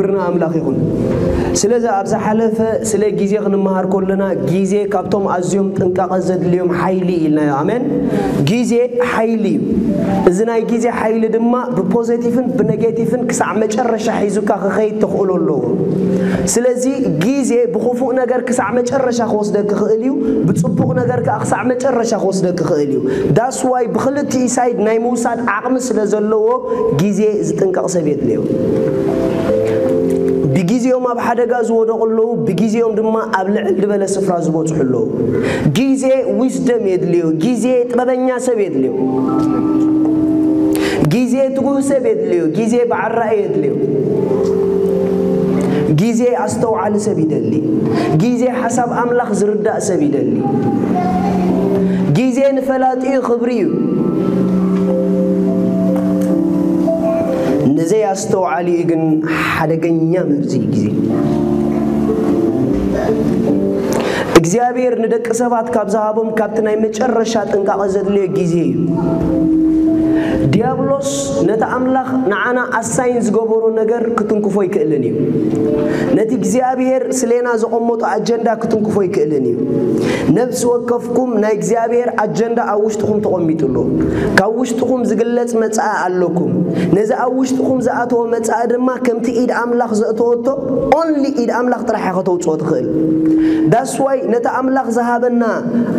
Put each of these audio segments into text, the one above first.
ክብርና ኣምላኽ ይኹን። ስለዚ ኣብ ዝሓለፈ ስለ ግዜ ክንመሃር ከለና፣ ግዜ ካብቶም ኣዝዮም ጥንቃቐ ዘድልዮም ሓይሊ ኢልናዮ። ኣሜን። ግዜ ሓይሊ እዩ። እዚ ናይ ግዜ ሓይሊ ድማ ብፖዘቲቭን ብኔጌቲቭን ክሳዕ መጨረሻ ሒዙካ ክኸይድ ተኽእሎ ኣለዎ። ስለዚ ግዜ ብኽፉእ ነገር ክሳዕ መጨረሻ ክወስደክ ክኽእል እዩ፣ ብጽቡቕ ነገር ከኣ ክሳዕ መጨረሻ ክወስደክ ክኽእል እዩ። ዳስ ዋይ ብኽልቲኡ ሳይድ ናይ ምውሳድ ዓቕሚ ስለ ዘለዎ፣ ግዜ ዝጥንቀቕ ሰብ የድልዮ። ብግዜኦም ኣብ ሓደጋ ዝወደቑ ኣለዉ፣ ብግዜኦም ድማ ኣብ ልዕል ዝበለ ስፍራ ዝበጽሑ ኣለዉ። ግዜ ዊዝደም የድልዮ፣ ግዜ ጥበበኛ ሰብ የድልዮ፣ ግዜ ትጉህ ሰብ የድልዮ፣ ግዜ በዓል ራእይ የድልዮ። ግዜ ኣስተውዓሊ ሰብ ይደሊ። ግዜ ሓሳብ ኣምላኽ ዝርዳእ ሰብ ይደሊ። ግዜ ንፈላጢኡ ክብሪ እዩ፣ ንዘይኣስተውዓሊኡ ግን ሓደገኛ መርዚ እዩ ግዜ። እግዚኣብሔር ንደቂ ሰባት ካብ ዝሃቦም ካብቲ ናይ መጨረሻ ጥንቃቐ ዘድልዮ ግዜ እዩ። ዲያብሎስ ነቲ ኣምላኽ ንዓና ኣሳይን ዝገበሮ ነገር ክትንክፎ ይክእልን እዩ። ነቲ እግዚኣብሔር ስሌና ዘቐመጦ ኣጀንዳ ክትንክፎ ይክእልን እዩ። ነፍሲ ወከፍኩም ናይ እግዚኣብሔር ኣጀንዳ ኣብ ውሽጥኹም ተቐሚጡ ኣሎ። ካብ ውሽጥኹም ዝግለጽ መጻኢ ኣለኩም። ነዚ ኣብ ውሽጥኹም ዝኣተወ መጻኢ ድማ ከምቲ ኢድ ኣምላኽ ዘእተወቶ፣ ኦንሊ ኢድ ኣምላኽ ጥራሕ እያ ከተውጽኦ ትኽእል። ዳስ ዋይ ነቲ ኣምላኽ ዝሃበና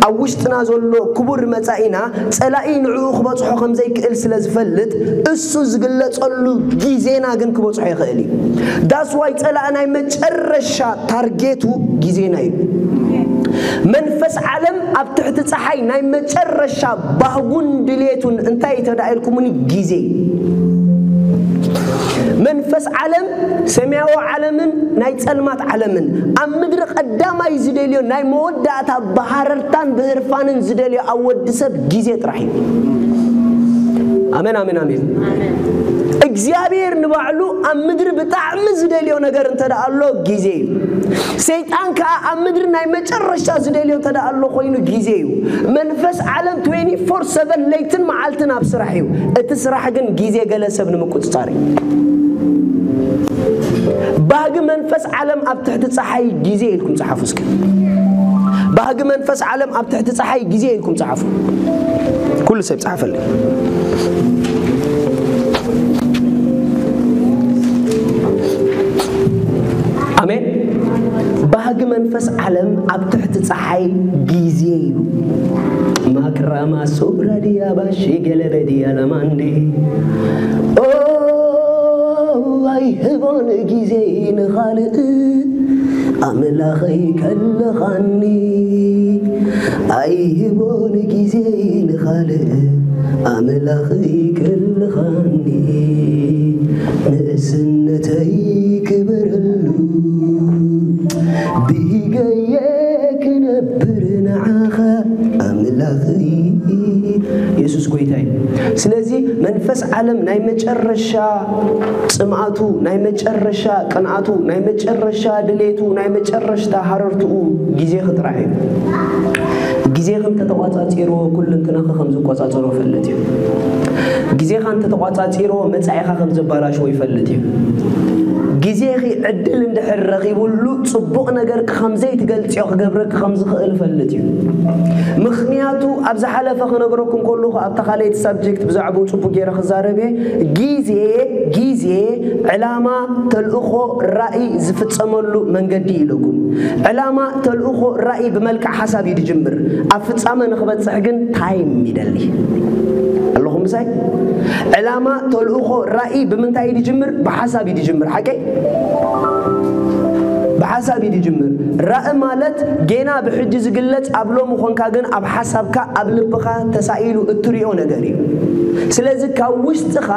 ኣብ ውሽጥና ዘሎ ክቡር መጻኢና ጸላኢ ንዕኡ ክበጽሖ ከም ዘይክእል ስለ ዝፈልጥ፣ እሱ ዝግለጸሉ ግዜና ግን ክበጽሖ ይኽእል እዩ። ዳስ ዋይ ጸላኢ ናይ መጨረሻ ታርጌቱ ግዜና እዩ። መንፈስ ዓለም ኣብ ትሕቲ ጸሓይ ናይ መጨረሻ ባህጉን ድሌቱን እንታይ እዩ ተዳኢልኩምኒ? ግዜ እዩ። መንፈስ ዓለም፣ ሰማያዊ ዓለምን ናይ ጸልማት ዓለምን፣ ኣብ ምድሪ ቀዳማይ ዝደልዮ ናይ መወዳእታ ብሃረርታን ብህርፋንን ዝደልዮ ኣብ ወዲ ሰብ ግዜ ጥራሕ እዩ። ኣሜን፣ ኣሜን፣ ኣሜን። እግዚኣብሔር ንባዕሉ ኣብ ምድሪ ብጣዕሚ ዝደልዮ ነገር እንተ ደኣ ኣሎ ግዜ እዩ። ሰይጣን ከኣ ኣብ ምድሪ ናይ መጨረሻ ዝደልዮ እንተ ደኣ ኣሎ ኮይኑ ግዜ እዩ። መንፈስ ዓለም ትዌንቲ ፎር ሰቨን ለይትን መዓልትን ኣብ ስራሕ እዩ። እቲ ስራሕ ግን ግዜ ገለ ሰብ ንምቁጽጻር እዩ። ባህጊ መንፈስ ዓለም ኣብ ትሕቲ ጸሓይ ግዜ ኢልኩም ጸሓፉ እስኪ። ባህጊ መንፈስ ዓለም ኣብ ትሕቲ ጸሓይ ግዜ ኢልኩም ጸሓፉ። ኩሉ ሰብ ጸሓፈልኝ። ኣሜን። ባህጊ መንፈስ ዓለም ኣብ ትሕቲ ጸሓይ ግዜ እዩ። ማክራማ ሶብራ ዲያ ባሺ ገለበ ዲያ ለማንዴ። ኦ፣ ኣይህቦን ግዜ ንኻልእ ኣምላኸይ ከለኻኒ። ኣይህቦን ግዜ ንኻልእ ኣምላኸይ ከለኻኒ። ንእስነተይ ክበረሉ ብሂገየ ክነብር ንዓኻ ኣምላኸይ። የሱስ ጎይታ እዩ። ስለዚ መንፈስ ዓለም ናይ መጨረሻ ጽምኣቱ፣ ናይ መጨረሻ ቅንኣቱ፣ ናይ መጨረሻ ድሌቱ፣ ናይ መጨረሽታ ሃረርትኡ ግዜኺ ጥራሕ እዩ። ግዜኺ እንተተቋጻጺርዎ ኩሉ እንትናኺ ከም ዝቆጻጸሮ ፈልጥ እዩ። ግዜኻ እንተተቋጻጺርዎ መጻኢኻ ከም ዘባላሽዎ ይፈልጥ እዩ። ግዜኺ ዕድል እንድሕር ረኺቡሉ ጽቡቕ ነገርኪ ከም ዘይትገልጽዮ ክገብረኪ ከም ዝኽእል እፈልጥ እዩ። ምኽንያቱ ኣብ ዝሓለፈ ክነግረኩም ከለኹ ኣብታ ካልኣይቲ ሳብጀክት ብዛዕባኡ ጽቡቕ ገይረ ክዛረብ እየ። ግዜ፣ ግዜ ዕላማ፣ ተልእኾ፣ ራእይ ዝፍጸመሉ መንገዲ ኢለኩም። ዕላማ፣ ተልእኾ፣ ራእይ ብመልክዕ ሓሳብ እዩ ዝጅምር። ኣብ ፍጻመ ንኽበጽሕ ግን ታይም ይደሊ። ኣለኹም ምሳይ? ዕላማ፣ ተልእኾ፣ ራእይ ብምንታይ እዩ ዝጅምር? ብሓሳብ እዩ ዝጅምር። ሓቀይ? ብሓሳብ እዩ ዝጅምር። ራእይ ማለት ጌና ብሕጂ ዝግለጽ ኣብ ሎሚ ኾንካ ግን ኣብ ሓሳብካ፣ ኣብ ልብኻ ተሳኢሉ እትሪኦ ነገር እዩ። ስለዚ ካብ ውሽጥኻ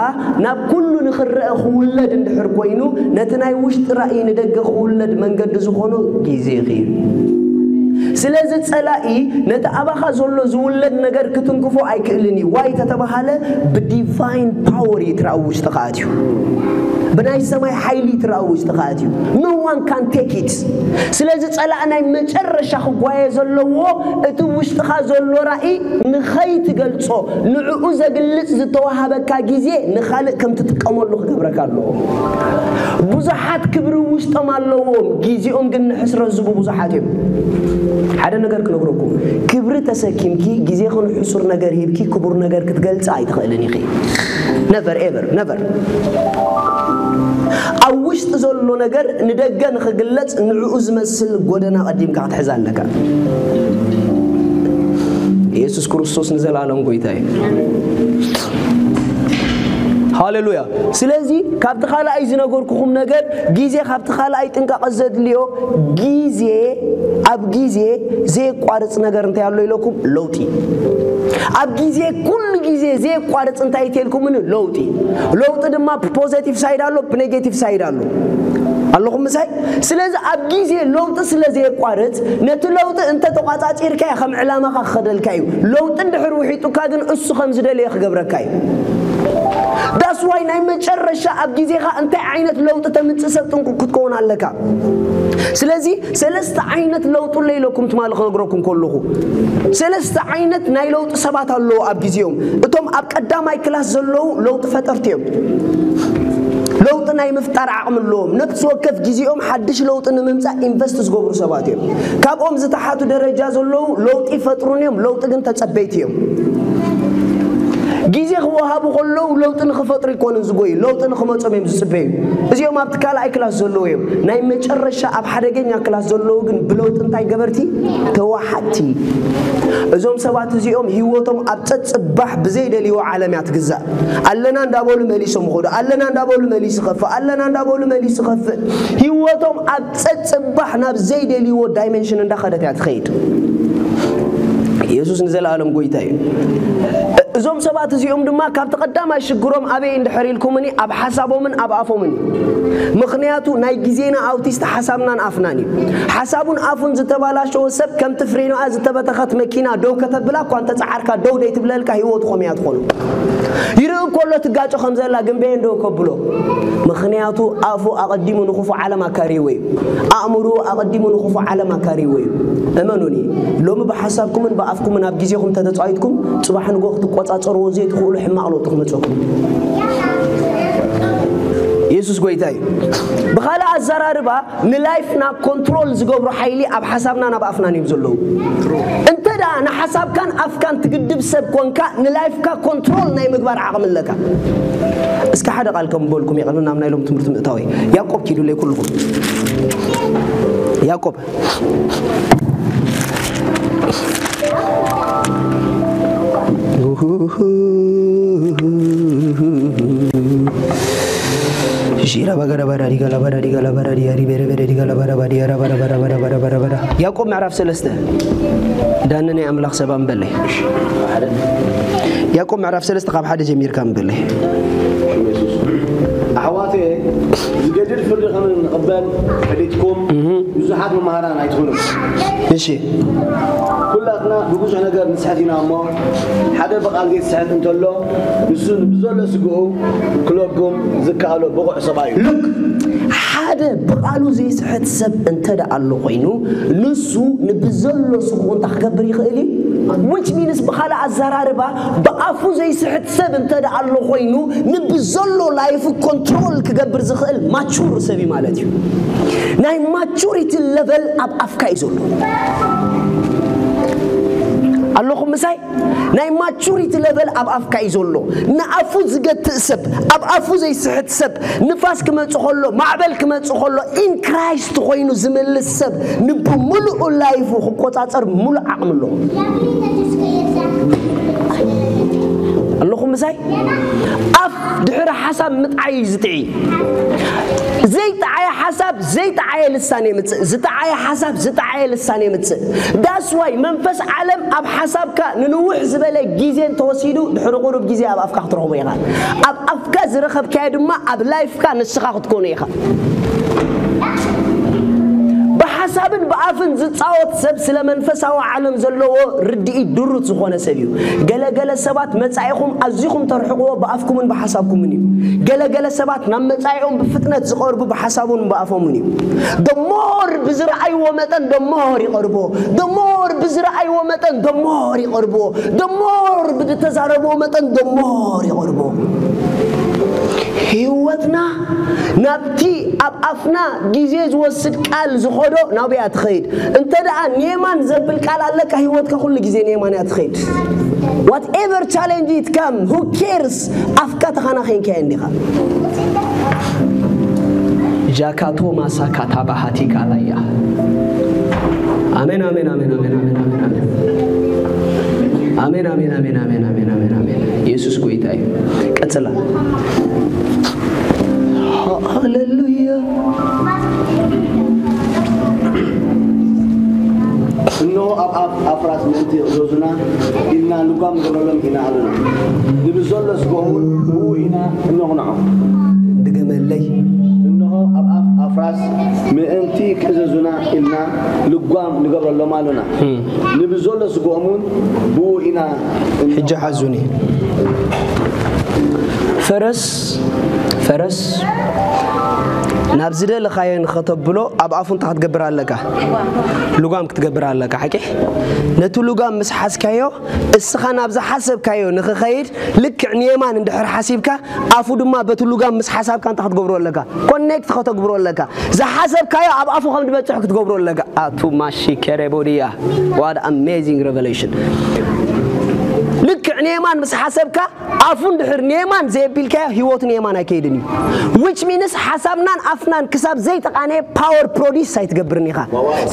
ናብ ኩሉ ንኽረአ ክውለድ እንድሕር ኮይኑ፣ ነቲ ናይ ውሽጢ ራእይ ንደገ ክውለድ መንገዲ ዝኾኖ ግዜኺ እዩ። ስለዚ ጸላኢ ነቲ ኣባኻ ዘሎ ዝውለድ ነገር ክትንክፎ ኣይክእልን እዩ። ዋይ ተተባሃለ፣ ብዲቫይን ፓወር እዩ እቲ ራእይ ውሽጥኻ ኣትዩ። ብናይ ሰማይ ሓይሊ ትረኣ ውሽጥኻ ኣትዩ። No one can take it። ስለዚ ጸላእ ናይ መጨረሻ ክጓየ ዘለዎ እቲ ውሽጥኻ ዘሎ ራእይ ንኸይትገልጾ፣ ንዕኡ ዘግልጽ ዝተዋሃበካ ግዜ ንኻልእ ከም ትጥቀመሉ ክገብረካ ኣለዎ። ብዙሓት ክብሪ ውሽጦም ኣለዎም፣ ግዜኦም ግን ንሕስረት ዝቡ ብዙሓት እዮም። ሓደ ነገር ክነግረኩም፣ ክብሪ ተሰኪምኪ ግዜኺ ንሕሱር ነገር ሂብኪ ክቡር ነገር ክትገልጽ ኣይትኽእልን ኢኺ። Never ever, never። ኣብ ውሽጢ ዘሎ ነገር ንደገ ንኽግለጽ ንዕኡ ዝመስል ጎደና ቀዲምካ ክትሕዝ ኣለካ። ኢየሱስ ክርስቶስ ንዘለኣለም ጎይታ እዩ። ሃሌሉያ። ስለዚ ካብቲ ካልኣይ ዝነገርኩኹም ነገር፣ ግዜ ካብቲ ካልኣይ ጥንቃቐ ዘድልዮ፣ ግዜ፣ ኣብ ግዜ ዘየቋርጽ ነገር እንታይ ኣሎ ኢለኩም? ለውጢ። ኣብ ግዜ፣ ኩሉ ግዜ ዘየቋርጽ እንታይ ተልኩምኒ? ለውጢ። ለውጢ ድማ ብፖዘቲቭ ሳይድ ኣሎ፣ ብኔጌቲቭ ሳይድ ኣሎ። ኣለኹም ምሳይ? ስለዚ ኣብ ግዜ ለውጢ ስለ ዘየቋርጽ፣ ነቲ ለውጢ እንተ ተቋጻጺርካዮ ከም ዕላማኻ ክኸደልካ እዩ። ለውጢ እንድሕር ውሒጡካ ግን እሱ ከም ዝደለየ ክገብረካ እዩ። That's why ናይ መጨረሻ ኣብ ግዜኻ እንታይ ዓይነት ለውጢ ተምጽእ ሰብ ጥንቁቅ ክትከውን ኣለካ። ስለዚ ሰለስተ ዓይነት ለውጢ ኣሎ ኢለኩም ትማሊ ክነግረኩም ከለኹ፣ ሰለስተ ዓይነት ናይ ለውጢ ሰባት ኣለዉ ኣብ ግዜኦም። እቶም ኣብ ቀዳማይ ክላስ ዘለዉ ለውጢ ፈጠርቲ እዮም። ለውጢ ናይ ምፍጣር ዓቕሚ ኣለዎም። ነፍሲ ወከፍ ግዜኦም ሓድሽ ለውጢ ንምምጻእ ኢንቨስት ዝገብሩ ሰባት እዮም። ካብኦም ዝተሓቱ ደረጃ ዘለዉ ለውጢ ይፈጥሩን እዮም፣ ለውጢ ግን ተጸበይቲ እዮም። ግዜ ክወሃቡ ከለዉ ለውጢ ንኽፈጥሩ ኣይኮኑን ዝጎዩ፣ ለውጢ ንኽመጾም እዮም ዝጽበዩ። እዚኦም ኣብቲ ካልኣይ ክላስ ዘለዉ እዮም። ናይ መጨረሻ ኣብ ሓደገኛ ክላስ ዘለዉ ግን ብለውጢ እንታይ ገበርቲ? ተዋሓጥቲ። እዞም ሰባት እዚኦም ህይወቶም ኣብ ጸጽባሕ ብዘይደልይዎ ዓለም እያ ትግዛእ። ኣለና እንዳበሉ መሊሶም ይኸዱ፣ ኣለና እንዳበሉ መሊሱ ይኸፍእ፣ ኣለና እንዳበሉ መሊሱ ይኸፍእ። ህይወቶም ኣብ ጸጽባሕ ናብ ዘይደልይዎ ዳይሜንሽን እንዳኸደት እያ ትኸይድ። ኢየሱስ ንዘለኣለም ጎይታ እዩ። እዞም ሰባት እዚኦም ድማ ካብቲ ቀዳማይ ሽግሮም ኣበይ እንድሕር ኢልኩምኒ፣ ኣብ ሓሳቦምን ኣብ ኣፎምን እዩ። ምኽንያቱ ናይ ግዜና ኣውቲስት ሓሳብናን ኣፍናን እዩ። ሓሳቡን ኣፉን ዝተባላሸወ ሰብ ከምቲ ፍሬኖኣ ዝተበተኸት መኪና ደው ከተብላ እኳ እንተጸዓርካ ደው ደይ ትብለልካ ህይወቱ ከመይ እያ ትኾኑ? ይርኢ ከሎ ትጋጮ ከም ዘላ ግን በየን ደው ከብሎ? ምኽንያቱ ኣፉ ኣቐዲሙ ንኽፉእ ዓለም ኣካርይዎ እዩ። ኣእምሮ ኣቐዲሙ ንኽፉእ ዓለም ኣካርይዎ እዩ። እመኑኒ፣ ሎሚ ብሓሳብኩምን ብኣፍኩምን ኣብ ግዜኹም ተተጻዊትኩም፣ ጽባሕ ንግሆ ክትቆጻጸርዎ ዘይትኽእሉ ሕማቕ ለውጢ ክመጽኩም። ኢየሱስ ጎይታ እዩ። ብኻልእ ኣዘራርባ፣ ንላይፍና ኮንትሮል ዝገብሩ ሓይሊ ኣብ ሓሳብናን ኣብ ኣፍናን እዮም ዘለዉ። እንተ ደኣ ንሓሳብካን ኣፍካን ትግድብ ሰብ ኮንካ፣ ንላይፍካ ኮንትሮል ናይ ምግባር ዓቕሚ ኣለካ። እስከ ሓደ ቃል ከም በልኩም የቐርብና፣ ኣብ ናይ ሎም ትምህርቲ ምእታወይ። ያዕቆብ ኪዱለይ ኩልኹም። ያዕቆብ። ሺራ ባጋዳ ባዳ ዲጋ ላባዳ ዲጋ ላባዳ ዲያ ሪቤ ሬቤ ዲጋ ላባዳ ባዲያ ራባዳ ባዳ ባዳ ባዳ ባዳ ባዳ። ያዕቆብ ምዕራፍ ሰለስተ። ዳኒ ናይ ኣምላኽ ሰብ ኣንበለይ። ያዕቆብ ምዕራፍ ሰለስተ ካብ ሓደ ጀሚርካ ኣንበለይ። ኣሕዋተየ፣ ዝገድድ ፍርዲ ከም እንቕበል ፈሊጥኩም ብዙሓት መምሃራን ኣይትኹኑ። እሺ። ኩላትና ብብዙሕ ነገር ንስሕት ኢና እሞ፣ ሓደ ብቓል ዘይስሕት እንተሎ፣ ንሱ ብዘሎ ስግኡ ክለጉም ዝከኣሎ ብቑዕ ሰብኣይ እዩ። ሉክ፣ ሓደ ብቓሉ ዘይስሕት ሰብ እንተ ደኣ ኣሎ ኮይኑ፣ ንሱ ንብዘሎ ስግኡ እንታይ ክገብር ይኽእል እዩ? Which means ብኻልእ ኣዘራርባ፣ ብኣፉ ዘይስሕት ሰብ እንተ ደኣ ኣሎ ኮይኑ፣ ንብዘሎ ላይፉ ኮንትሮል ክገብር ዝኽእል ማቹር ሰብ እዩ ማለት እዩ። ናይ ማቹሪቲ ለቨል ኣብ ኣፍካ እዩ ዘሎ። ኣለኹም ምሳይ? ናይ ማቹሪቲ ለቨል ኣብ ኣፍካ እዩ ዘሎ። ንኣፉ ዝገትእ ሰብ፣ ኣብ ኣፉ ዘይስሕት ሰብ፣ ንፋስ ክመጽእ ከሎ፣ ማዕበል ክመጽእ ከሎ፣ ኢን ክራይስት ኮይኑ ዝምልስ ሰብ፣ ንብምሉኡ ላይፉ ክቆጻጸር ምሉእ ዓቕሚ ኣለዎ። ኣለኹም ምሳይ? ኣፍ ድሕሪ ሓሳብ ምጥዓይ እዩ ዝጥዒ። ዘይጠዓየ ሓሳብ ዘይጠዓየ ልሳን የምጽእ፣ ዝጠዓየ ሓሳብ ዝጠዓየ ልሳን የምጽእ። That's why መንፈስ ዓለም ኣብ ሓሳብካ ንንውሕ ዝበለ ግዜ እንተወሲዱ፣ ድሕሪ ቁሩብ ግዜ ኣብ ኣፍካ ክትረኽቦ ኢኻ። ኣብ ኣፍካ ዝረኸብካዮ ድማ ኣብ ላይፍካ ንስኻ ክትኮኖ ኢኻ። ብሓሳብ ብሓሳብን ብኣፍን ዝጻወት ሰብ ስለ መንፈሳዊ ዓለም ዘለዎ ርድኢት ድሩት ዝኾነ ሰብ እዩ። ገለ ገለ ሰባት መጻኢኹም ኣዚኹም ተርሕቕዎ ብኣፍኩምን ብሓሳብኩምን እዩ። ገለ ገለ ሰባት ናብ መጻኢኦም ብፍጥነት ዝቐርቡ ብሓሳቡን ብኣፎምን እዩ። The more ብዝረኣይዎ መጠን the more ይቐርብዎ። The more ብዝረኣይዎ መጠን the more ይቐርብዎ። The more ብዝተዛረብዎ መጠን the more ይቐርብዎ። ህይወትና ናብቲ ኣብ ኣፍና ግዜ ዝወስድ ቃል ዝኸዶ ናብያ ትኸይድ። እንተ ደኣ ኔማን ዘብል ቃል ኣለካ፣ ህይወትካ ኩሉ ግዜ ኔማን እያ ትኸይድ። Whatever challenge it come, who cares? ኣፍካ ተኸናኺንካዮ እንዲኻ። ጃካቶ ማሳካ ታባሃቲ ካላያ። ኣሜን፣ ኣሜን፣ ኣሜን፣ ኣሜን፣ ኣሜን፣ ኣሜን፣ ኣሜን። ኣሜን፣ ኣሜን፣ ኣሜን፣ ኣሜን፣ ኣሜን፣ ኣሜን፣ ኣሜን። ኢየሱስ ጎይታ እዩ። ቀጽላ። ሃሌሉያ። እንሆ ኣብ ኣፍ ኣፍራስ ምእንቲ ይእዘዙና ኢልና ልጓም ንገብረሎም ኢና ኣሉና። ንብዘሎ ስግኦም እውን ብኡ ኢና እነቕንዖ። ድገመለይ። እንሆ ኣብ ኣፍ ኣፍራስ ምእንቲ ክእዘዙና ኢልና ልጓም ንገብረሎም ኣሉና። ንብዘሎ ስግኦም እውን ብኡ ኢና እነ- ሕጂ ሓዙኒ። ፈረስ፣ ፈረስ ናብ ዝደለኻዮ ንኸተብሎ ኣብ ኣፉ እንታይ ክትገብር ኣለካ? ልጓም ክትገብር ኣለካ። ሓቂ? ነቲ ልጓም ምስ ሓዝካዮ፣ እስኻ ናብ ዝሓሰብካዮ ንኽኸይድ ልክዕ ንየማን እንድሕር ሓሲብካ፣ ኣፉ ድማ በቲ ልጓም ምስ ሓሳብካ እንታይ ክትገብሮ ኣለካ? ኮኔክት ከተግብሮ ኣለካ። ዝሓሰብካዮ ኣብ ኣፉ ከም ዝበጽሕ ክትገብሮ ኣለካ። ኣቱ ማሺ ከረቦድያ። What amazing revelation። ልክዕ ንየማን ምስ ሓሰብካ፣ ኣፉ እንድሕር ንየማን ዘየቢልካዮ፣ ህይወቱ ንየማን ኣይከይድን እዩ። Which means ሓሳብናን ኣፍናን ክሳብ ዘይተቓነየ ፓወር ፕሮዲስ ኣይትገብርን ኢኻ።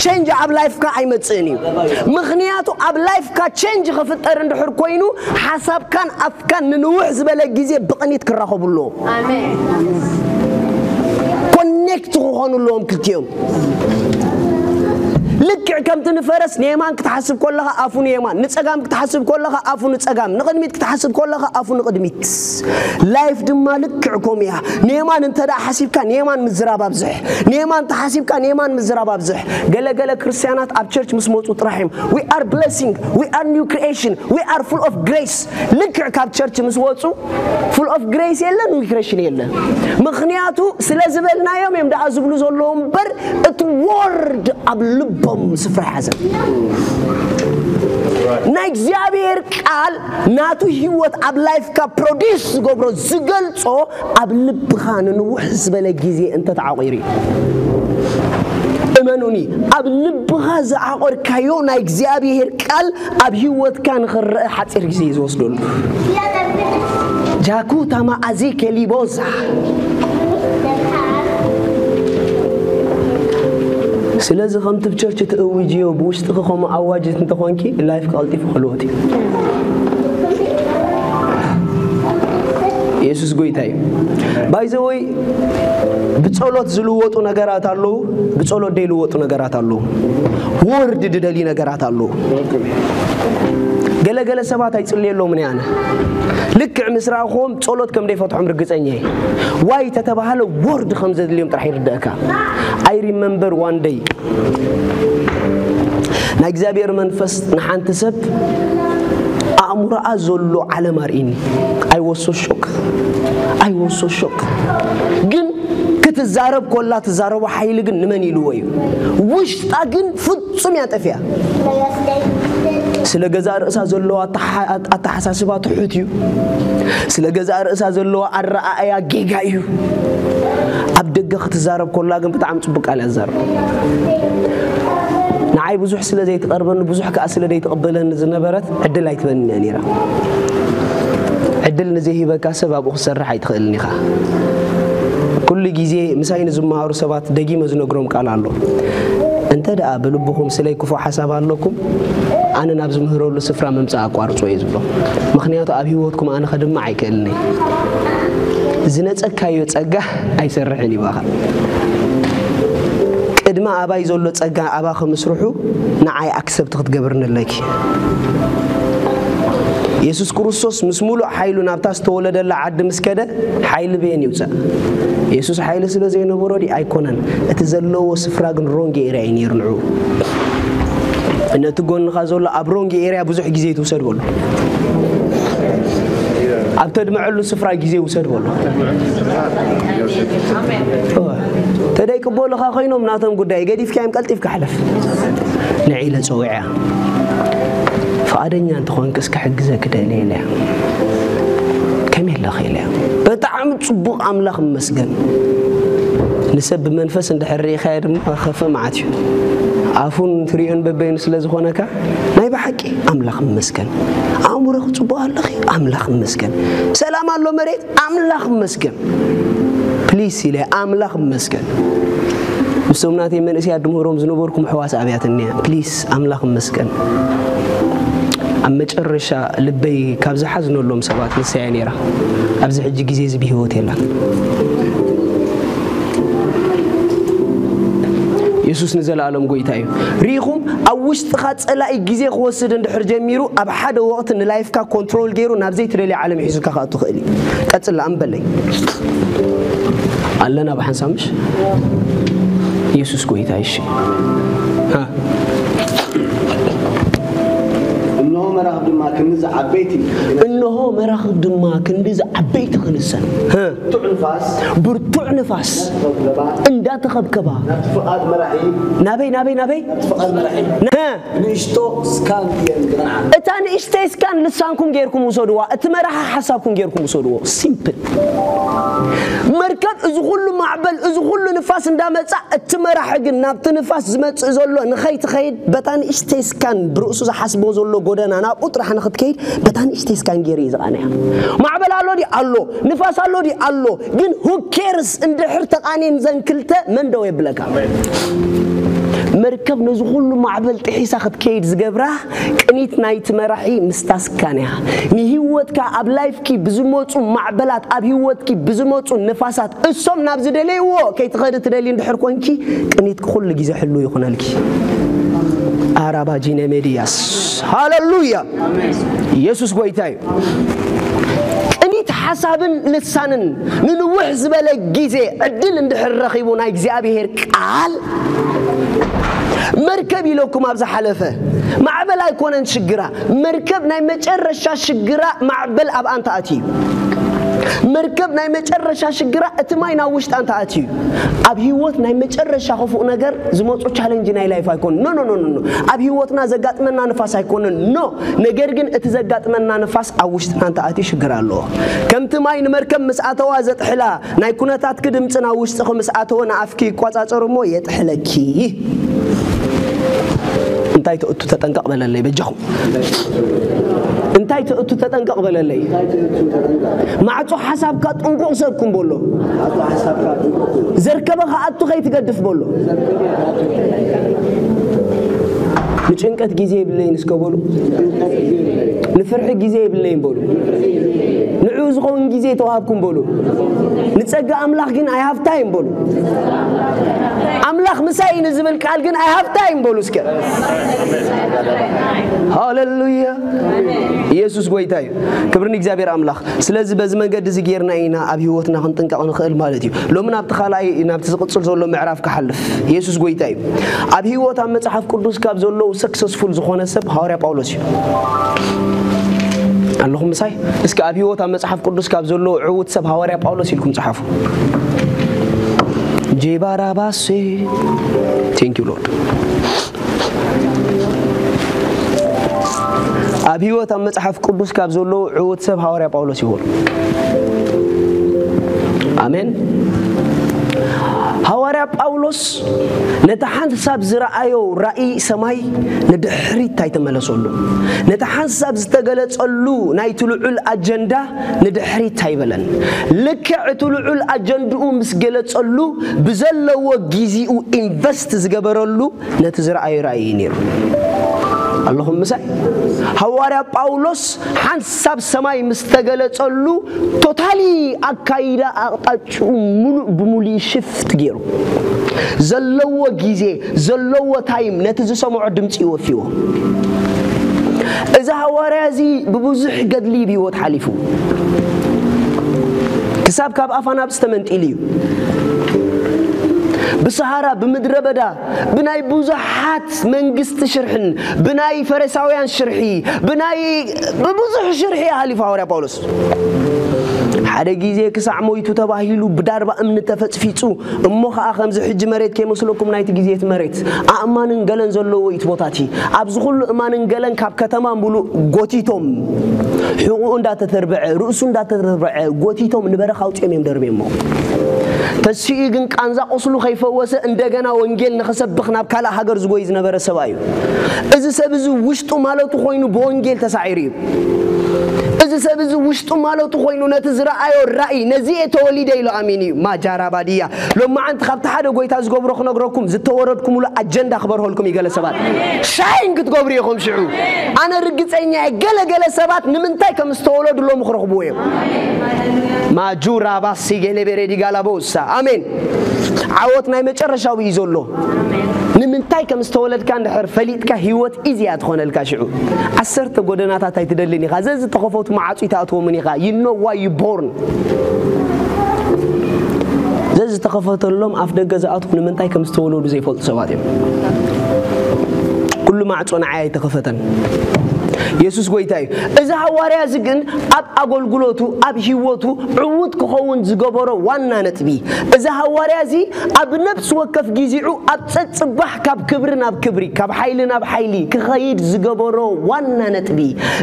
ቸንጅ ኣብ ላይፍካ ኣይመጽእን እዩ። ምኽንያቱ ኣብ ላይፍካ ቸንጅ ክፍጠር እንድሕር ኮይኑ፣ ሓሳብካን ኣፍካን ንንውሕ ዝበለ ግዜ ብቕኒት ክራኸቡ ኣለዎም። ኣሜን። ኮኔክት ክኾኑ ኣለዎም ክልቲኦም። ልክዕ ከምቲ ንፈረስ ንየማን ክትሓስብ ከለኻ ኣፉ ንየማን፣ ንጸጋም ክትሓስብ ከለኻ ኣፉ ንጸጋም፣ ንቕድሚት ክትሓስብ ከለኻ ኣፉ ንቕድሚት። ላይፍ ድማ ልክዕ ከምኡ እያ። ንየማን እንተ ደኣ ሓሲብካ ንየማን ምዝራብ ኣብዝሕ፣ ንየማን ተሓሲብካ ንየማን ምዝራብ ኣብዝሕ። ገለ ገለ ክርስትያናት ኣብ ቸርች ምስ መጹ ጥራሕ እዮም we are blessing, we are new creation, we are full of grace። ልክዕ ካብ ቸርች ምስ ወጹ ፉል ኦፍ ግሬስ የለ፣ ኒው ክሬሽን የለ። ምኽንያቱ ስለ ዝበልናዮም እዮም ደኣ ዝብሉ ዘለዉ እምበር፣ እቲ ወርድ ኣብ ልቦም ስፍራ ይሓዘ። ናይ እግዚኣብሔር ቃል ናቱ ህይወት ኣብ ላይፍካ ፕሮዲስ ዝገብሮ፣ ዝገልጾ፣ ኣብ ልብኻ ንንውሕ ዝበለ ግዜ እንተተዓቑሩ እዩ። እመኑኒ፣ ኣብ ልብኻ ዝዓቆርካዮ ናይ እግዚኣብሔር ቃል ኣብ ህይወትካ ንኽረአ ሓጺር ግዜ እዩ ዝወስደሉ። ጃኩ ታማ ኣዚ ኬሊቦዛ። ስለዚ ከምቲ ብ ቸርች ትእውጅዮ ብውሽጥኺ ከምኡ ኣዋጅት እንተኾንኪ፣ ላይፍ ቀልጢፉ ክልወጥ እዩ። የሱስ ጎይታ እዩ። ባይዘወይ፣ ብጸሎት ዝልወጡ ነገራት ኣለዉ፣ ብጸሎት ዘይልወጡ ነገራት ኣለዉ። ወርድ ድደሊ ነገራት ኣለዉ። ገለገለ ሰባት ኣይጽልየሎምን እየ ኣነ። ልክዕ ምስ ረኣኹዎም ጸሎት ከም ዘይፈትሖም ርግጸኛ እየ። ዋይ ተተባሃለ፣ ወርድ ከም ዘድልዮም ጥራሕ ይርደእካ። I remember one day፣ ናይ እግዚኣብሔር መንፈስ ንሓንቲ ሰብ ኣእምሮኣ ዘሎ ዓለም ኣርእኒ። I was so shock. I was so shock። ግን ክትዛረብ ኮላ ትዛረቦ ሓይሊ ግን ንመን ኢልዎ እዩ? ውሽጣ ግን ፍጹም እያ ጠፊኣ። ስለ ገዛእ ርእሳ ዘለዋ ኣተሓ-፣ ኣተሓሳስባ ትሑት እዩ። ስለ ገዛእ ርእሳ ዘለዋ ኣረኣእያ ጌጋ እዩ። ኣብ ደገ ክትዛረብ ኮላ ግን ብጣዕሚ ጽቡቅ ቃል እያ ትዛረብ። ንዓይ ብዙሕ ስለ ዘይትቐርበኒ፣ ብዙሕ ከኣ ስለ ዘይትቕበለኒ ዝነበረት ዕድል ኣይትበንን እያ ነይራ። ዕድል ንዘይሂበካ ሰብ ኣብኡ ክትሰርሕ ኣይትኽእልን ኢኻ። ኩሉ ግዜ ምሳይ ንዝመሃሩ ሰባት ደጊመ ዝነግሮም ቃል ኣሎ። እንተ ደኣ ብልብኹም ስለይ ክፉእ ሓሳብ ኣለኩም፣ ኣነ ናብ ዝምህረሉ ስፍራ ምምጻእ ኣቋርጾ እየ ዝብሎ። ምኽንያቱ ኣብ ህይወትኩም ኣነ ከድምዕ ኣይክእልን እየ። ዝነጸግካዮ ጸጋ ኣይሰርሕን እዩ ብኣኻ። ቅድሚ ኣባይ ዘሎ ጸጋ ኣባኺ ምስርሑ ንዓይ ኣክሰፕት ክትገብርኒ ኣለኪ። የሱስ ክርስቶስ ምስ ሙሉእ ሓይሉ ናብታ ዝተወለደላ ዓዲ ምስ ከደ፣ ሓይሊ በየን ይውጻእ? የሱስ ሓይሊ ስለ ዘይነበሮ ድዩ? ኣይኮነን። እቲ ዘለዎ ስፍራ ግን ሮንግ ኤርያ እዩ ነይሩ ንዕኡ። ነቲ ጎንኻ ዘሎ ኣብ ሮንግ ኤርያ ብዙሕ ግዜ ትውሰድ በሎ። ኣብ ተድምዐሉ ስፍራ ግዜ ውሰድ በሎ። እወ። ተደይቅበሉኻ ኮይኖም ናቶም ጉዳይ ገዲፍካዮም ቀልጢፍካ ሕለፍ። ንዒለ ጸዊዐያ። ፍቓደኛ እንተኾንክስ ክሕግዘ ክደሊ ኢለያ። ከመይ ኣለኺ ኢለያ። ብጣዕሚ ጽቡቕ ኣምላኽ ይመስገን። ንሰብ ብመንፈስ እንድሕር ርኢኻዮ ድማ ከፈ መዓት እዩ። ኣፉን ትሪኦን በበይኑ ስለ ዝኾነካ ናይ ብሓቂ ኣምላኽ ይመስገን። ኣእምሮኺ ጽቡቕ ኣለኺ ኣምላኽ ይመስገን። ሰላም ኣሎ መሬት ኣምላኽ ይመስገን። ፕሊስ ኢለ ኣምላኽ ይመስገን። ምስቶም ናተይ መንእሰያት ድምህሮም ዝነበርኩም ሕዋስ ኣብያትኒ እያ። ፕሊስ ኣምላኽ ይመስገን። ኣብ መጨረሻ ልበይ ካብ ዝሓዝነሎም ሰባት ንሳ እያ ነይራ። ኣብዚ ሕጂ ግዜ እዚ ብህይወት የላን። የሱስ ንዘለኣለም ጎይታ እዩ። ርኢኹም፣ ኣብ ውሽጥኻ ጸላኢ ግዜ ክወስድ እንድሕር ጀሚሩ፣ ኣብ ሓደ ወቕቲ ንላይፍካ ኮንትሮል ገይሩ ናብ ዘይትደልዮ ዓለም ሒዙካ ክኣቱ ይኽእል እዩ። ቀጽል ኣንበለይ። ኣለና ብሓንሳብ ምሽ? የሱስ ጎይታ እዩ። እሺ። ሃ። እነሆ መራኽብ ድማ ክንዲ ዝዓበይቲ እነሆ መራኽብ ድማ ክንዲ ዝዓበይቲ ክንሰን። ሃ። ብርቱዕ ንፋስ ብርቱዕ ንፋስ ተኸብከባ። እንዳተኸብከባ ናብቲ ፍቓድ መራሒ ናበይ ናበይ ናበይ ናብቲ ፍቓድ መራሒ ሃ። ንእሽቶ ስካን እየን ዝቐንዓ። እታ ንእሽተይ ስካን ልሳንኩም ጌርኩም ውሰድዋ፣ እቲ መራሒ ሓሳብኩም ጌርኩም ውሰድዎ። ሲምፕል። መርከብ እዚ ኩሉ ማዕበል እዚ ኩሉ ንፋስ እንዳመጻ፣ እቲ መራሒ ግን ናብቲ ንፋስ ዝመጽእ ዘሎ ንኸይትኸይድ፣ በታ ንእሽተይ ስካን ብርእሱ ዝሓስቦ ዘሎ ጎደና ናብኡ ጥራሕ ንኽትከይድ፣ በታ ንእሽተይ ስካን ገይሩ እዩ ዝቓንያ። ማዕበል ኣሎ ድዩ? ኣሎ። ንፋስ ኣሎ ድዩ? ኣሎ። ግን who cares እንድሕር ተቓንየን ዘን ክልተ መን ደው የብለካ? መርከብ ነዚ ኩሉ ማዕበል ጥሒሳ ክትከይድ ዝገብራ ቅኒት ናይቲ መራሒ ምስታ ስካን እያ። ንህይወትካ ኣብ ላይፍኪ ብዝመፁ ማዕበላት፣ ኣብ ህይወትኪ ብዝመፁ ንፋሳት እሶም ናብ ዝደለይዎ ከይትኸዲ ትደሊ እንድሕር ኮንኪ ቅኒትኪ ኩሉ ግዜ ሕሉ ይኹነልኪ። ኣራባጂነ ሜድያስ ሃለሉያ። ኢየሱስ ጎይታ እዩ። ቅኒት ሓሳብን ልሳንን ንንውሕ ዝበለ ግዜ ዕድል እንድሕር ረኺቡ ናይ እግዚኣብሔር ቃል መርከብ ኢለኩም ኣብ ዝሓለፈ ማዕበል ኣይኮነን ሽግራ። መርከብ ናይ መጨረሻ ሽግራ ማዕበል ኣብ ኣንታ ኣትዩ። መርከብ ናይ መጨረሻ ሽግራ እቲ ማይ ናብ ውሽጣ እንተ ኣትዩ። ኣብ ህይወት ናይ መጨረሻ ክፉእ ነገር ዝመፁ ቻለንጅ ናይ ላይፍ ኣይኮን ኖ ኖ ኖ ኖ። ኣብ ህይወትና ዘጋጥመና ንፋስ ኣይኮነን ኖ። ነገር ግን እቲ ዘጋጥመና ንፋስ ኣብ ውሽጥና እንተ ኣትዩ ሽግር ኣለዎ። ከምቲ ማይ ንመርከብ ምስ ኣተዋ ዘጥሕላ ናይ ኩነታትኪ ድምፂ ናብ ውሽጥኺ ምስ ኣተወ ንኣፍኪ ይቋፃፀር እሞ የጥሕለኪ። እንታይ ትእቱ ተጠንቀቕ በለለይ በጃኹም። እንታይ ትእቱ ተጠንቀቕ በለለይ። ማዕጾ ሓሳብካ ጥንቁቕ ሰብ ኩን በሎ። ዘርከበ ክኣቱ ከይትገድፍ በሎ። ንጭንቀት ግዜ የብለይን እስከ በሉ። ንፍርሒ ግዜ የብለይን በሉ። ንዕኡ ዝኸውን ግዜ ተዋሃብኩም በሉ። ንጸጋ ኣምላኽ ግን ኣይሃፍታይን በሉ። ኣምላኽ ምሳይ እዩ ንዝብል ቃል ግን ኣይሃፍታይን በሉ እስከ። ሃሌሉያ። ኢየሱስ ጎይታ እዩ። ክብሪ ንእግዚኣብሔር ኣምላኽ። ስለዚ በዚ መንገዲ እዚ ጌርና ኢና ኣብ ህይወትና ክንጥንቀቕ ንኽእል ማለት እዩ። ሎሚ ናብቲ ካልኣይ ናብቲ ዝቕጽል ዘሎ ምዕራፍ ክሓልፍ ኢየሱስ ጎይታ እዩ። ኣብ ህይወት ኣብ መጽሓፍ ቅዱስ ካብ ዘለዉ ሰክሰስፉል ዝኾነ ሰብ ሃዋርያ ጳውሎስ እዩ። ኣለኹም ምሳይ? እስኪ ኣብ ህይወት ኣብ መጽሓፍ ቅዱስ ካብ ዘለዉ ዕዉት ሰብ ሃዋርያ ጳውሎስ ኢልኩም ጸሓፉ። ጄባራባሴ Thank you Lord። ኣብ ህይወት ኣብ መጽሓፍ ቅዱስ ካብ ዘለዉ ዕዉት ሰብ ሃዋርያ ጳውሎስ ይኹን። ኣሜን። ሃዋርያ ጳውሎስ ነቲ ሓንሳብ ዝረኣዮ ራእይ ሰማይ ንድሕሪት ኣይተመለሰሉ። ነቲ ሓንሳብ ዝተገለጸሉ ናይቲ ልዑል ኣጀንዳ ንድሕሪት ኣይበለን። ልክዕ እቲ ልዑል ኣጀንድኡ ምስ ገለጸሉ ብዘለዎ ግዜኡ ኢንቨስት ዝገበረሉ ነቲ ዝረኣዮ ራእይ እዩ ነይሩ። ኣለኹም ምሳይ? ሃዋርያ ጳውሎስ ሓንሳብ ሰማይ ምስ ተገለጸሉ ቶታሊ ኣካይዳ ኣቕጣጭኡ ሙሉእ ብሙሉእ ሽፍት ገይሩ ዘለዎ ግዜ ዘለዎ ታይም ነቲ ዝሰምዖ ድምፂ ይወፍይዎ። እዚ ሃዋርያ እዚ ብብዙሕ ገድሊ ብህይወት ሓሊፉ፣ ክሳብ ካብ ኣፋ ናብ ዝተመንጢሉ እዩ። ብሰሃራ፣ ብምድረ በዳ፣ ብናይ ብዙሓት መንግስቲ ሽርሕን፣ ብናይ ፈሪሳውያን ሽርሒ፣ ብናይ ብብዙሕ ሽርሒ ሓሊፉ ሃዋርያ ጳውሎስ። ሓደ ግዜ ክሳዕ ሞይቱ ተባሂሉ ብዳርባ እምኒ ተፈጽፊጹ፣ እሞ ኸኣ ከምዚ ሕጂ መሬት ከይመስለኩም ናይቲ ግዜ እቲ መሬት ኣእማንን ገለን ዘለዎ እዩ እቲ ቦታ እቲ። ኣብዚ ኩሉ እማንን ገለን ካብ ከተማ ምሉእ ጎቲቶም፣ ሕቑኡ እንዳተተርበዐ፣ ርእሱ እንዳተተርበዐ ጎቲቶም ንበረኻ ኣውጺኦም እዮም ደርብዮሞ። ተሲኡ ግን ቃንዛ ቁስሉ ከይፈወሰ እንደገና ወንጌል ንኽሰብኽ ናብ ካልእ ሃገር ዝጎይ ዝነበረ ሰብኣይ እዩ። እዚ ሰብ እዚ ውሽጡ ማለቱ ኮይኑ ብወንጌል ተሳዒሩ እዩ። እዚ ሰብ እዚ ውሽጡ ማለቱ ኮይኑ ነቲ ዝረኣዮ ራእይ፣ ነዚ እየ ተወሊደ ኢሉ ኣሚኑ እዩ። ማጃራ ባድያ። ሎማዓንቲ ካብቲ ሓደ ጎይታ ዝገብሮ ክነግረኩም፣ ዝተወረድኩምሉ ኣጀንዳ ክበርሆልኩም እዩ። ገለ ሰባት ሻይን ክትገብሩ ኢኹም። ሽዑ ኣነ ርግጸኛ እየ፣ ገለ ገለ ሰባት ንምንታይ ከም ዝተወለዱ ሎሚ ክረኽብዎ እዮም። ማጁራ ባሲ ገለ ቤሬዲ ጋላቦሳ። ኣሜን። ዓወት ናይ መጨረሻዊ እዩ ዘሎ። ንምንታይ ከም ዝተወለድካ እንድሕር ፈሊጥካ፣ ህይወት ኢዚያ ትኾነልካ። ሽዑ ዓሰርተ ጎደናታት ኣይትደልን ኢኻ። ዘዝተኸፈቱ መዓጹ ኣይትኣትዎምን ኢኻ። You know why you born። ዘዝተኸፈተሎም ኣፍ ደገ ዝኣትዉ ንምንታይ ከም ዝተወለዱ ዘይፈልጡ ሰባት እዮም። ኩሉ ማዕጾ ንዓይ ኣይተኸፈተን። የሱስ ጎይታ እዩ። እዚ ሃዋርያ እዚ ግን ኣብ ኣገልግሎቱ፣ ኣብ ህይወቱ ዕዉት ክኸውን ዝገበሮ ዋና ነጥቢ፣ እዚ ሃዋርያ እዚ ኣብ ነፍሲ ወከፍ ጊዜኡ ኣብ ጸጽባሕ ካብ ክብሪ ናብ ክብሪ፣ ካብ ሓይሊ ናብ ሓይሊ ክኸይድ ዝገበሮ ዋና ነጥቢ፣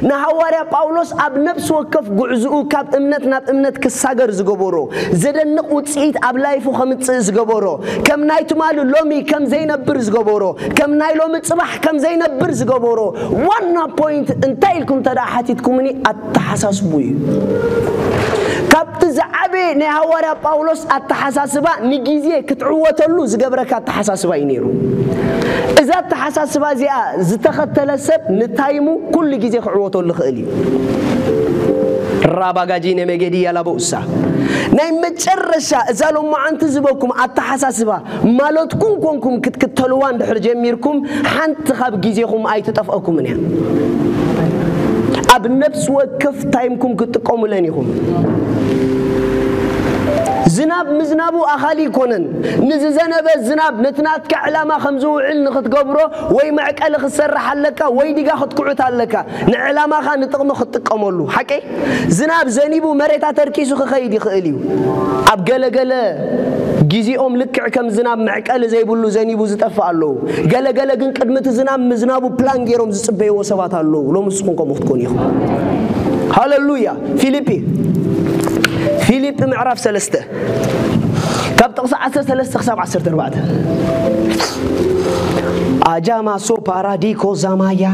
ንሃዋርያ ጳውሎስ ኣብ ነፍሲ ወከፍ ጉዕዝኡ ካብ እምነት ናብ እምነት ክሳገር ዝገበሮ፣ ዘደንቕ ውጽኢት ኣብ ላይፉ ከምጽእ ዝገበሮ፣ ከም ናይ ትማሊ ሎሚ ከም ዘይነብር ዝገበሮ፣ ከም ናይ ሎሚ ጽባሕ ከም ዘይነብር ዝገበሮ ዋና ፖይንት እንታይ ኢልኩም እንተ ደኣ ሓቲትኩምኒ፣ ኣተሓሳስቡ እዩ። ካብቲ ዝዓበየ ናይ ሃዋርያ ጳውሎስ ኣተሓሳስባ፣ ንግዜ ክትዕወተሉ ዝገብረካ ኣተሓሳስባ እዩ ነይሩ። እዛ ኣተሓሳስባ እዚኣ ዝተኸተለ ሰብ ንታይሙ ኩሉ ግዜ ክዕወተሉ ይኽእል እዩ። ራባጋጂ ነመገዲ ያላቦኡሳ። ናይ መጨረሻ እዛ ሎማዓንቲ ዝበኩም ኣተሓሳስባ ማለትኩም ኮንኩም ክትክተልዋ እንድሕር ጀሚርኩም፣ ሓንቲ ካብ ግዜኹም ኣይትጠፍአኩምን እያ። ኣብ ነፍሲ ወከፍ ታይምኩም ክትጥቀሙለን ኢኹም። ዝናብ ምዝናቡ ኣኻሊ ኣይኮነን። ንዝዘነበ ዝናብ ነቲ ናትካ ዕላማ ከም ዝውዕል ንኽትገብሮ፣ ወይ መዕቀሊ ክትሰርሕ ኣለካ፣ ወይ ዲጋ ክትኩዕት ኣለካ፣ ንዕላማኻ ንጥቕሚ ክትጥቀመሉ። ሓቀይ? ዝናብ ዘኒቡ መሬት ኣተርኪሱ ክኸይድ ይኽእል እዩ። ኣብ ገለገለ ግዜኦም ልክዕ ከም ዝናብ መዕቀሊ ዘይብሉ ዘኒቡ ዝጠፍእ ኣለዉ። ገለገለ ግን ቅድሚ እቲ ዝናብ ምዝናቡ ፕላን ገይሮም ዝጽበይዎ ሰባት ኣለዉ። ሎሚ ንስኹም ከምኡ ክትኮኑ ኢኹም። ሃለሉያ። ፊልጲ፣ ፊልጲ ምዕራፍ ሰለስተ ካብ ጥቕሲ ዓሰርተ ሰለስተ ክሳብ ዓሰርተ ኣርባዕተ። ኣጃማሶ ፓራዲኮ ዛማያ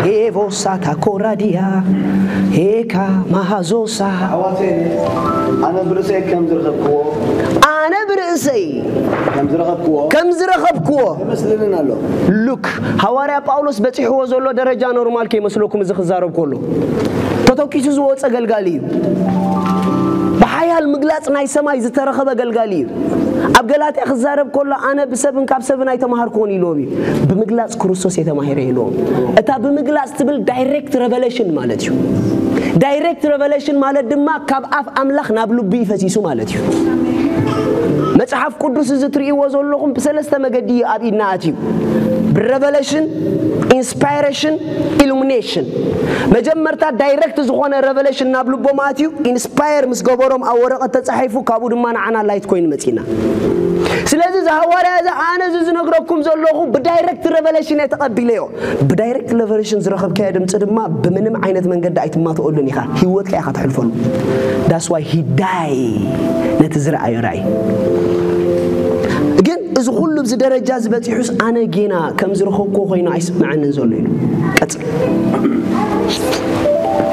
ሄቮሳታ ኮራዲያ ሄካ ማሃዞሳ። ኣዋቴ፣ ኣነ ብርእሰይ ከም ዝረኸብክዎ ኣነ ብርእሰይ ከም ዝረኸብክዎ ከም ዝረኸብክዎ ይመስልንን ኣሎ። ሉክ፣ ሃዋርያ ጳውሎስ በጺሕዎ ዘሎ ደረጃ ኖርማል ከይመስለኩም፣ እዚ ክዛረብ ከሎ ተተኪሱ ዝወጸ ገልጋሊ እዩ። ብሓያል ምግላጽ ናይ ሰማይ ዝተረኸበ ገልጋሊ እዩ። ኣብ ገላትያ ክዛረብ ከሎ፣ ኣነ ብሰብን ካብ ሰብን ኣይተማሃርኩን ኢልዎም እዩ። ብምግላጽ ክርስቶስ የተማሂረ ኢልዎም። እታ ብምግላጽ ትብል ዳይሬክት ሬቨሌሽን ማለት እዩ። ዳይሬክት ሬቨሌሽን ማለት ድማ ካብ ኣፍ ኣምላኽ ናብ ልቡ ይፈሲሱ ማለት እዩ። መጽሓፍ ቅዱስ እዚ ትርእይዎ ዘለኹም ብሰለስተ መገዲ እዩ ኣብ ኢድና ኣትዩ። ብሬቨሌሽን፣ ኢንስፓይሬሽን፣ ኢሉሚኔሽን። መጀመርታ ዳይሬክት ዝኾነ ሬቨሌሽን ናብ ልቦም ኣትዩ፣ ኢንስፓየር ምስ ገበሮም ኣብ ወረቐት ተጻሒፉ፣ ካብኡ ድማ ንዓና ላይት ኮይኑ መጺና። ስለዚ እዚ ሃዋርያ እዚ ኣነ እዚ ዝነግረኩም ዘለኹ ብዳይሬክት ሬቨሌሽን እየ ተቐቢለዮ። ብዳይሬክት ሬቨሌሽን ዝረኸብካዮ ድምፂ ድማ ብምንም ዓይነት መንገዲ ኣይትማትኦሉን ኢኻ። ህይወትካ ኢኻ ተሕልፈሉ። That's why he die ነቲ ዝረኣዮ ራእይ። ግን እዚ ኩሉ ኣብዚ ደረጃ እዚ በፂሑስ ኣነ ጌና ከም ዝረኸብኩዎ ኮይኑ ኣይስምዐንን ዘሎ ኢሉ። ቀጽል።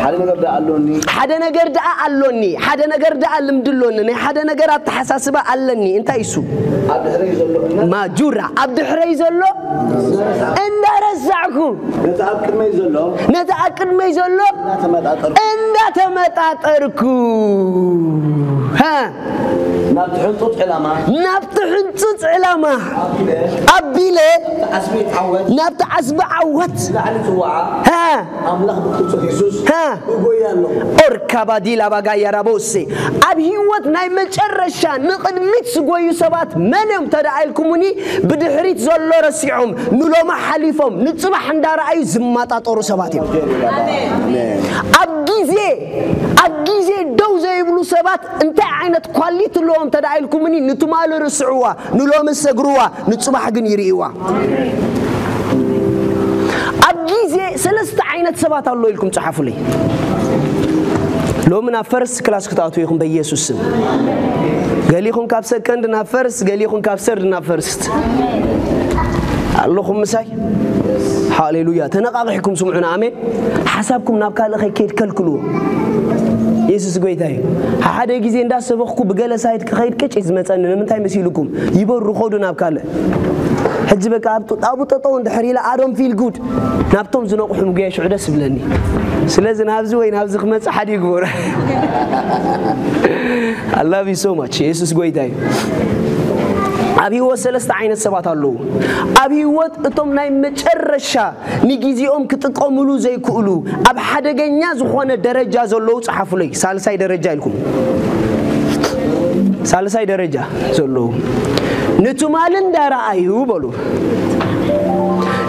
ሓደ ነገር ደኣ ኣሎኒ። ሓደ ነገር ደኣ ኣሎኒ። ሓደ ነገር ደኣ ልምዲ ኣሎኒ። ናይ ሓደ ነገር ኣተሓሳስባ ኣለኒ። እንታይ እሱ? ኣብ ድሕረይ ዘሎ እምነት ማጁራ። ኣብ ድሕረይ ዘሎ እንዳረሳዕኩ፣ ነቲ ኣብ ቅድመይ ዘሎ ነቲ ኣብ ቅድመይ ዘሎ እንዳተመጣጠርኩ እንዳተመጣጠርኩ። ሃ። ናብቲ ሕንጡጥ ዕላማ ናብቲ ሕንጹጽ ዕላማ ኣቢለ ኣቢለ ዓስቢ ዓወት ናብቲ ዓስቢ ዓወት ላዕሊ ጽዋዓ ሃ ኣምላኽ ብክርስቶስ የሱስ ሃ እጎያ ኣለኹ። ኦርካባዲ ላባጋ ያራቦሴ ኣብ ህይወት ናይ መጨረሻ ንቕድሚት ዝጎዩ ሰባት መን እዮም ተደኣ ኢልኩሙኒ? ብድሕሪት ዘሎ ረሲዖም ንሎሚ ሓሊፎም ንጽባሕ እንዳረኣዩ ዝመጣጠሩ ሰባት እዮም። ኣብ ግዜ ኣብ ግዜ ደው ዘይብሉ ሰባት እንታይ ዓይነት ኳሊቲ ኣለዎም ተደኣ ኢልኩምኒ? ንትማሊ ርስዕዋ፣ ንሎሚ ሰግርዋ፣ ንጽባሕ ግን ይርእይዋ። ኣብ ግዜ ሰለስተ ዓይነት ሰባት ኣሎ ኢልኩም ጸሓፉለይ። ሎሚ ናብ ፈርስት ክላስ ክትኣትዉ ኢኹም በኢየሱስ ስም። ገሊኹም ካብ ሰከንድ ናብ ፈርስት፣ ገሊኹም ካብ ሰርድ ናብ ፈርስት ኣለኹም ምሳይ። ሃሌሉያ። ተነቓቒሕኩም ስምዑና። ኣሜን። ሓሳብኩም ናብ ካልእ ከይከይድ ከልክልዎ። የሱስ ጎይታ እዩ። ሓደ ግዜ እንዳሰበኽኩ ብገለ ሳይድ ክኸይድ ቅጭ ዝመፀኒ ንምንታይ መሲልኩም? ይበሩ ኾዱ ናብ ካልእ። ሕጂ በቃ ኣብኡ ጠጠው እንድሕር ኢለ ኣዶም ፊል ጉድ ናብቶም ዝነቑሑ ምጉያ ሽዑ ደስ ይብለኒ። ስለዚ ናብዚ ወይ ናብዚ ክመፅእ ሓደ ይግበሩ። I love you so much። የሱስ ጎይታ እዩ። ኣብ ህይወት ሰለስተ ዓይነት ሰባት ኣለዉ። ኣብ ህይወት እቶም ናይ መጨረሻ ንግዜኦም ክጥቀምሉ ዘይክእሉ ኣብ ሓደገኛ ዝኾነ ደረጃ ዘለዉ ጸሓፉለይ። ሳልሳይ ደረጃ ኢልኩም ሳልሳይ ደረጃ ዘለዉ ንትማሊ እንዳረኣዩ በሉ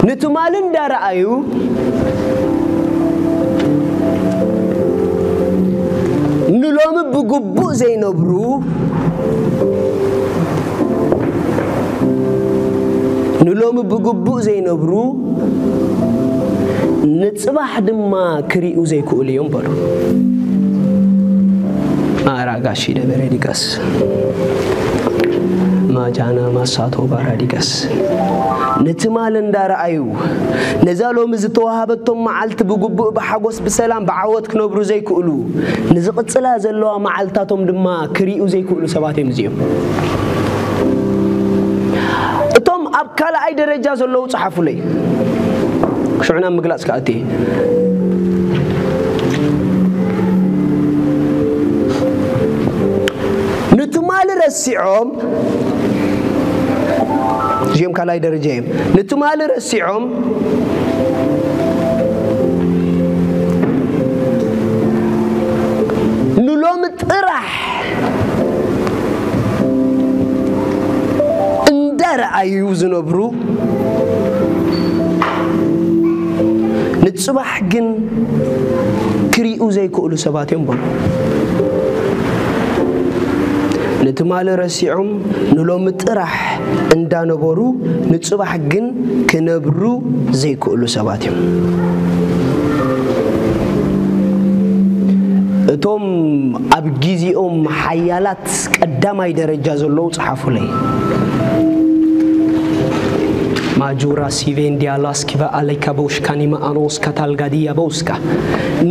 ንትማሊ እንዳረኣዩ ንሎሚ ብግቡእ ዘይነብሩ ንሎሚ ብግቡእ ዘይነብሩ ንጽባሕ ድማ ክሪኡ ዘይክእሉ እዮም በሉ። ማራጋሺ ደበረ ዲጋስ ማጃና ማሳቶ ባራዲጋስ ንትማል እንዳረኣዩ ነዛ ሎሚ ዝተዋሃበቶም መዓልቲ ብግቡእ ብሓጎስ ብሰላም ብዓወት ክነብሩ ዘይክእሉ ንዝቕጽላ ዘለዋ መዓልታቶም ድማ ክሪኡ ዘይክእሉ ሰባት እዮም እዚኦም። እቶም ኣብ ካልኣይ ደረጃ ዘለዉ ጸሓፉለይ። ሽዑና ምግላጽ ከኣቲ ንትማሊ ረሲዖም እዚኦም ካልኣይ ደረጃ እዮም። ንትማሊ ረሲዖም ንሎሚ ጥራሕ እንዳረኣዩ ዝነብሩ ንጽባሕ ግን ክሪኡ ዘይክእሉ ሰባት እዮም በሉ። ንትማሊ ረሲዖም ንሎሚ ጥራሕ እንዳነበሩ ንጽባሕ ግን ክነብሩ ዘይክእሉ ሰባት እዮም። እቶም ኣብ ግዜኦም ሓያላት ቀዳማይ ደረጃ ዘለዉ ጸሓፉለይ። ማጁራ ሲቬንዲያ ላስኪባ ኣለይካ በውሽካ ኒማ ኣኖስካ ታልጋድያ በውስካ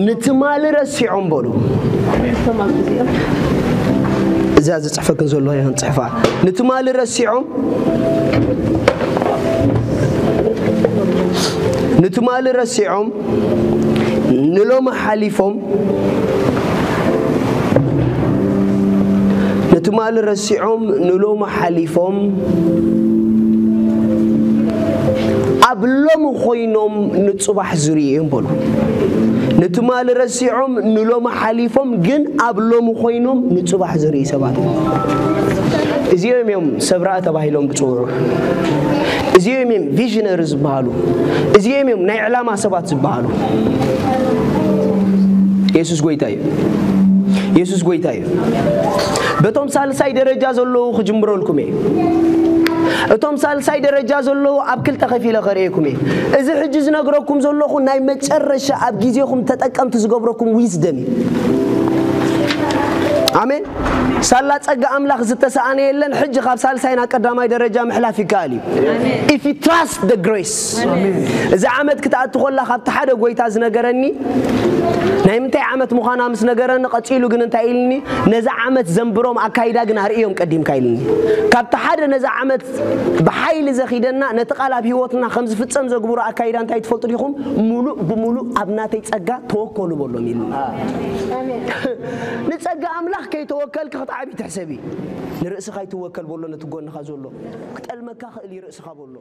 ንትማሊ ረሲዖም በሉ። እዛ ዝጽሕፈክን ዘሎ ይኽን ጽሕፋ ንትማሊ ረሲዖም ንትማሊ ረሲዖም ንሎሚ ሓሊፎም ንትማሊ ረሲዖም ንሎሚ ሓሊፎም ኣብ ሎሚ ኮይኖም ንጽባሕ ዝርእዩ እዮም በሉ። ንትማሊ ረሲዖም ንሎሚ ሓሊፎም ግን ኣብ ሎሚ ኮይኖም ንጽባሕ ዝርእዩ ሰባት እዮም። እዚኦም እዮም ሰብ ራእ ተባሂሎም ዝጽውዑ። እዚኦም እዮም ቪዥነሪ ዝበሃሉ። እዚኦም እዮም ናይ ዕላማ ሰባት ዝበሃሉ። የሱስ ጎይታ እዩ። የሱስ ጎይታ እዩ። በቶም ሳልሳይ ደረጃ ዘለዉ ክጅምረልኩም እየ። እቶም ሳልሳይ ደረጃ ዘለዉ ኣብ ክልተ ከፊለ ከርእየኩም እየ። እዚ ሕጂ ዝነግረኩም ዘለኹ ናይ መጨረሻ ኣብ ግዜኹም ተጠቀምቲ ዝገብረኩም ዊዝደም እዩ። ኣሜን። ሳላ ጸጋ ኣምላኽ ዝተሰኣነ የለን። ሕጂ ካብ ሳልሳይ ናብ ቀዳማይ ደረጃ ምሕላፍ ይከኣል እዩ። If you trust the grace። እዚ ዓመት ክትኣቱ ከላ ካብቲ ሓደ ጎይታ ዝነገረኒ ናይ ምንታይ ዓመት ምዃና ምስ ነገረኒ ቀጺሉ ግን እንታይ ኢልኒ? ነዛ ዓመት ዘንብሮም ኣካይዳ ግን ኣርእዮም ቀዲምካ ኢልኒ። ካብቲ ሓደ ነዛ ዓመት ብሓይሊ ዘኺደና ነቲ ቃል ኣብ ህይወትና ከም ዝፍጸም ዘግብሮ ኣካይዳ እንታይ ትፈልጡ ዲኹም? ሙሉእ ብሙሉእ ኣብ ናተይ ጸጋ ተወከሉ በሎም ኢልኒ። ንጸጋ ኣምላኽ ከይተወከልክ ክትዓቢ ትሕሰቢ። ንርእስኻ ይትወከል በሎ ነቲ ጎንኻ ዘሎ። ክጠልመካ ክእል እዩ ርእስኻ በሎ።